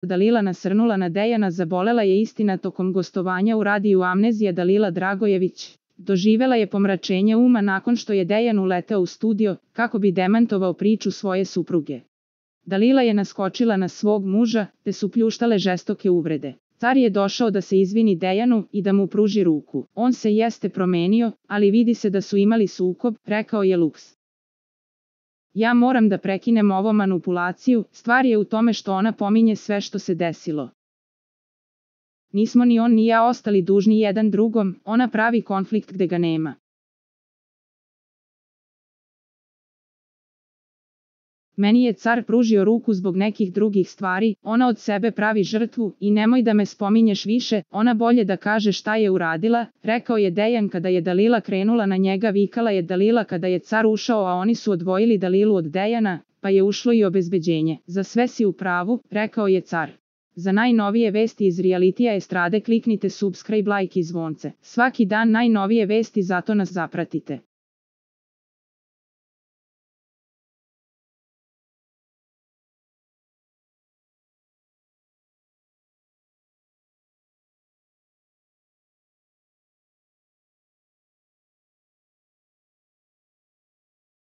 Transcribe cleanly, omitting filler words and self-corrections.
Dalila nasrnula na Dejana. Zabolela je istina tokom gostovanja u radiju Amnezija. Dalila Dragojević doživela je pomračenje uma nakon što je Dejan uleteo u studio kako bi demantovao priču svoje supruge. Dalila je naskočila na svog muža, te su pljuštale žestoke uvrede. Car je došao da se izvini Dejanu i da mu pruži ruku. On se jeste promenio, ali vidi se da su imali sukob, rekao je Lux. Ja moram da prekinem ovo manipulaciju, stvar je u tome što ona pominje sve što se desilo. Nismo ni on ni ja ostali dužni jedan drugom, ona pravi konflikt gde ga nema. Meni je car pružio ruku zbog nekih drugih stvari, ona od sebe pravi žrtvu i nemoj da me spominješ više, ona bolje da kaže šta je uradila, rekao je Dejan kada je Dalila krenula na njega. Vikala je Dalila kada je car ušao, a oni su odvojili Dalilu od Dejana, pa je ušlo i obezbeđenje. Za sve si u pravu, rekao je car. Za najnovije vesti iz realitija estrade kliknite subscribe, like i zvonce. Svaki dan najnovije vesti, zato nas zapratite.